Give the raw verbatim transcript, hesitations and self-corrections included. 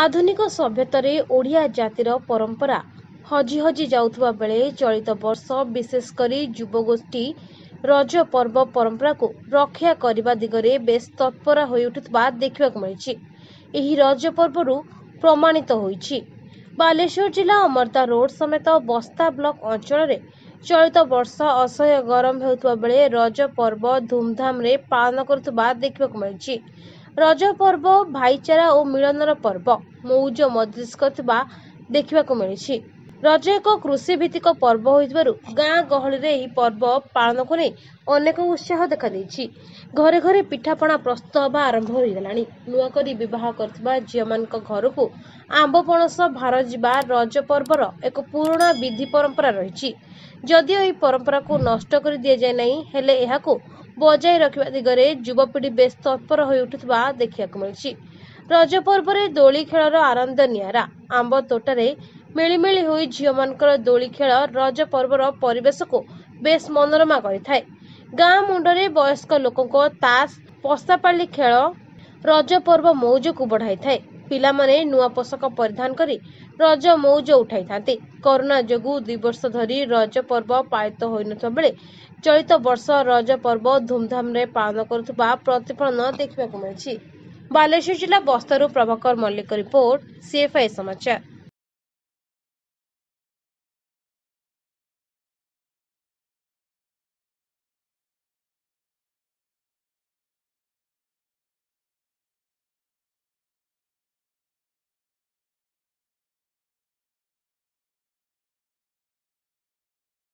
ଆଧୁନିକ ସଭ୍ୟତାରେ ଓଡ଼ିଆ ଜାତିର ପରମ୍ପରା ହଜି ହଜି ଯାଉଥିବା ବେଳେ ଚଳିତ ବର୍ଷ ବିଶେଷ କରି ଯୁବଗୋଷ୍ଠୀ ରଜ ପର୍ବ ପରମ୍ପରାକୁ ରକ୍ଷା କରିବା ଦିଗରେ ବେଶ୍ ତତ୍ପର ହୋଇଉଠୁଥିବା ଦେଖିବାକୁ ମିଳିଛି। ଏହି ରଜ ପର୍ବରୁ ପ୍ରମାଣିତ ହୋଇଛି। ବାଲେଶ୍ୱର ଜିଲ୍ଲା ଅମର୍ଦ୍ଦା ରୋଡ ସମେତ ବସ୍ତା ବ୍ଲକ ଅଞ୍ଚଳରେ ଚଳିତ ବର୍ଷ ଅସହ୍ୟ ଗରମ ହେଉଥିବା ବେଳେ ରଜ ପର୍ବ ଧୁମଧାମରେ ପାଳନ କରୁଥିବା ଦେଖିବାକୁ ମିଳିଛି। ରଜ ପର୍ବ ଭାଇଚାରା ଓ ମିଳନର ପର୍ବ ମଉଜ ମଜଲିସ କରୁଥିବା ଦେଖିବାକୁ ମିଳିଛି। ରଜ ଏକ କୃଷିଭିତ୍ତିକ ପର୍ବ ହୋଇଥିବାରୁ ଗାଁ ଗହଳିରେ ଏହି ପର୍ବ ପାଳନକୁ ନେଇ ଅନେକ ଉତ୍ସାହ ଦେଖାଦେଇଛି। ଘରେ ଘରେ ପିଠାପଣା ପ୍ରସ୍ତୁତ ହେବା ଆରମ୍ଭ ହୋଇଗଲାଣି। ନୂଆକରି ବିବାହ କରିଥିବା ଝିଅମାନଙ୍କ ଘରକୁ ଆମ୍ବ ପଣସ ଭାର ଯିବା ରଜ ପର୍ବର ଏକ ପୁରୁଣା ବିଧି ପରମ୍ପରା ରହିଛି। ଯଦିଓ ଏହି ପରମ୍ପରାକୁ ନଷ୍ଟ କରି ଦିଆଯାଇ ନାହିଁ, ହେଲେ ଏହାକୁ ବଜାୟ ରଖିବା ଦିଗରେ ଯୁବପିଢ଼ି ବେଶ୍ ତତ୍ପର ହୋଇଉଠୁଥିବା ଦେଖିବାକୁ ମିଳିଛି। ରଜ ପର୍ବରେ ଦୋଳି ଖେଳର ଆନନ୍ଦ ନିଆରା। ଆମ୍ବ ତୋଟାରେ ମିଳିମିଳି ହୋଇ ଝିଅମାନଙ୍କର ଦୋଳି ଖେଳ ରଜ ପର୍ବର ପରିବେଶକୁ ବେଶ୍ ମନୋରମା କରିଥାଏ। ଗାଁ ମୁଣ୍ଡରେ ବୟସ୍କ ଲୋକଙ୍କ ତାସ ପଶାପାଲି ଖେଳ ରଜ ପର୍ବ ମଉଜକୁ ବଢ଼ାଇଥାଏ। ପିଲାମାନେ ନୂଆ ପୋଷାକ ପରିଧାନ କରି ରଜ ମଉଜ ଉଠାଇଥାନ୍ତି। କରୋନା ଯୋଗୁଁ ଦୁଇ ବର୍ଷ ଧରି ରଜ ପର୍ବ ପାଳିତ ହୋଇନଥିବା ବେଳେ ଚଳିତ ବର୍ଷ ରଜ ପର୍ବ ଧୁମଧାମରେ ପାଳନ କରୁଥିବା ପ୍ରତିଫଳନ ଦେଖିବାକୁ ମିଳିଛି। ବାଲେଶ୍ୱର ଜିଲ୍ଲା ବସ୍ତାରୁ ପ୍ରଭାକର ମଲ୍ଲିକ ରିପୋର୍ଟ, ସିଏଫ୍ଆଇ ସମାଚାର।